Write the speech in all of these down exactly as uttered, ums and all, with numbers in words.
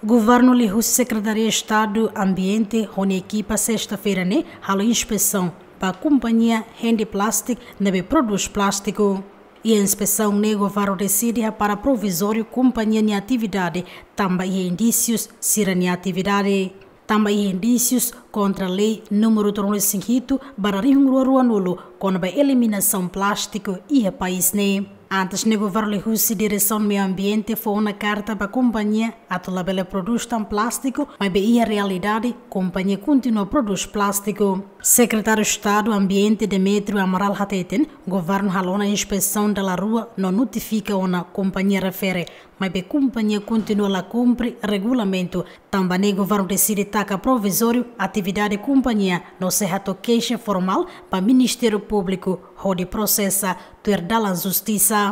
Governu liuhusi Sekretaria Estadu Ambiente ho nia ekipa sesta-feira ne'e halo inspesaun ba kompañia Handy Plastic ne'ebé prodús plástiku. Iha inspesaun ne'e governu deside hapara provizóriu kompañia nia atividade tanba iha indísius sira-nia atividade. Tanba iha indísius kontra lei númeru tolunulu-resin-hitu barra rihun rua ruanulu kona-ba eliminasaun plástiku iha país ne'e. Antes ne'e governu liuhusi Diresaun Meiu Ambiente fó ona karta ba kompañia atu labele prodús tan plástiku, maibé iha realidade kompañia kontinua prodús plástiku. Sekretáriu Estadu Ambiente Demetrio Amaral hateten, governu halo ona inspesaun dala rua no notifika ona kompañia refere, maibé kompañia kontinua la kumpre regulamentu. Tanba ne'e governu deside taka provizóriu atividade kompañia no sei hato'o keixa formál ba Ministériu Públiku hodi prosesa tuir dalan justisa.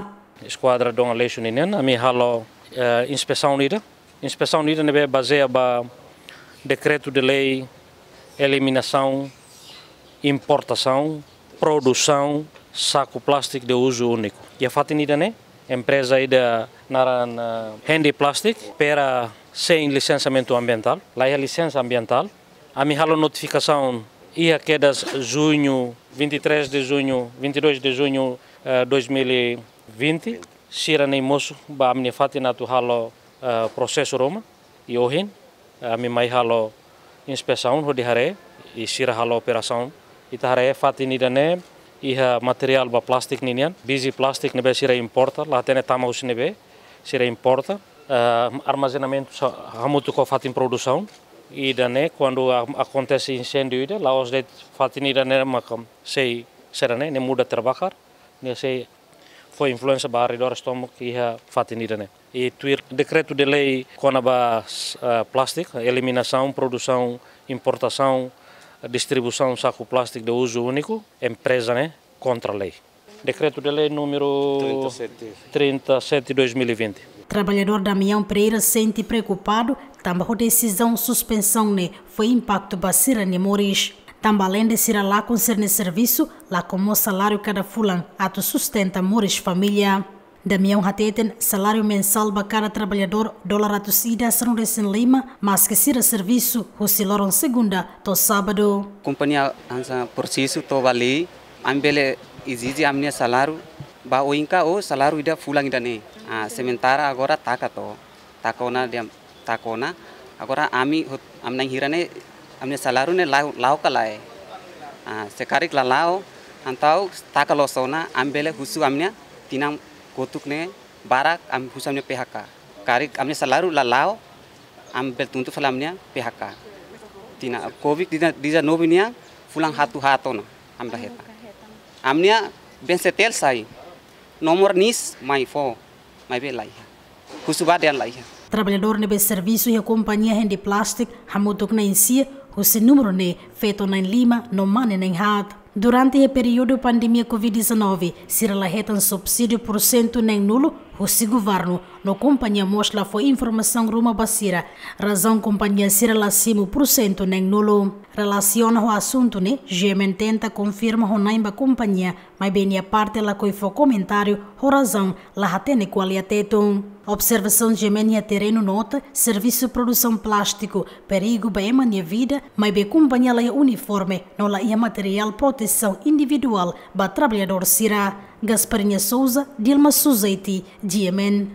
Eskuadra Dom Aleixo ninian, ami halo, eh, inspesaun ida. Inspesaun ida ne'ebé bazeia ba dekretu de lei eliminasaun, importasaun, produsaun saku plástiku de uzu úniku. Iha fatin ida-ne'e, empreza ida naran, eh, Handy Plastic, opera sein lisensiamentu ambientál, la iha lisensa ambientál. Ami halo notifikasaun iha kedas juñu, vinte e três de junho, vinte e dois de junho, eh, dois mil e vinte. Sira-ne'e mosu ba ami-nia fatin atu halo, eh, prosesu ruma. I ohin, eh, ami mai halo inspesaun hodi haree, i sira halo operasaun. Ita haree fatin ida-ne'e iha materiál ba plástiku ninian, biji plástiku ne'ebé sira importa, la hatene tama husi ne'ebé, sira importa. Eh, armazenamentu sa-, hamutuk ho fatin produsaun. Ida-ne'e, kuandu a-, akontese inséndiu ida, la'ós de'it fatin ida-ne'e maka sei sira-ne'e, ne'e muda terbakar, ne'e sei fó influénsia ba arredores tomak iha fatin ida-ne'e. I tuir dekretu de lei kona-ba, eh, plástiku, eliminasaun, produsaun, importasaun, distribuisaun saku plástiku de uzu úniku, empreza ne'e kontra lei. Dekretu de lei númeru trinta e sete, dois mil e vinte. Traballadór Damião Pereira sente preokupadu tanba ho desizaun suspensaun ne'e fó impaktu ba sira-nia moris. Tanba alende sira lakon sira-nia servisu, lakon mós saláriu kada fulan atu sustenta moris família. Damião hateten saláriu mensál ba kada traballadór dolar atus ida sanulu-resin-lima, maske sira servisu husi loron segunda to'o sábadu. Kompañia hanesan prosesu to'o ba lei, ami bele ezije ami-nia saláriu ba oin ka ou saláriu ida fulan ida-ne'e. Ah, sementara agora taka to'o, taka ona di'ak, taka ona. Agora ami hut-, ami na'in hira ne'e, ami-nia saláriu ne'e la'o, la'o ka lae. Ah, se karik la la'o, entaun taka loos ona, ami bele husu ami-nia tinan kotuk ne'e barak, ami husu ami-nia P H K. Karik ami-nia saláriu la la'o, ami bele tuntu fali ami-nia P H K. Tinan covid dezanove nian, fulan haat haat ona, ami la hetan. Ami-nia B N C T L sai, nomor NIS mai fó, maibé la iha. Husu ba dehan la iha. Traballadór ne'ebé servisu iha kompañia Handy Plastic hamutuk na'in sia, husi númeru ne'e feto na'in-lima no mane na'in-haat. Durante iha períodu pandemia covid dezanove, sira la hetan subsídiu pursentu na'in-nulu husi governu, no kompañia mós la fó informasaun ruma ba sira. Razaun kompañia sira la simu pursentu na'in-nulu. Relasiona ho asuntu ne'e, G M N tenta konfirma ho na'in ba kompañia, maibé nia parte lakohi fó komentáriu ho razaun la hatene ko'alia Tetun. Observasaun G M N iha terrenu nota servisu produsaun plástiku perigu ba ema nia vida, maibé kompañia la iha uniforme no la iha materiál protesaun individuál ba traballadór sira. Gasparinha Souza, Dilma Suzeiti, G M N.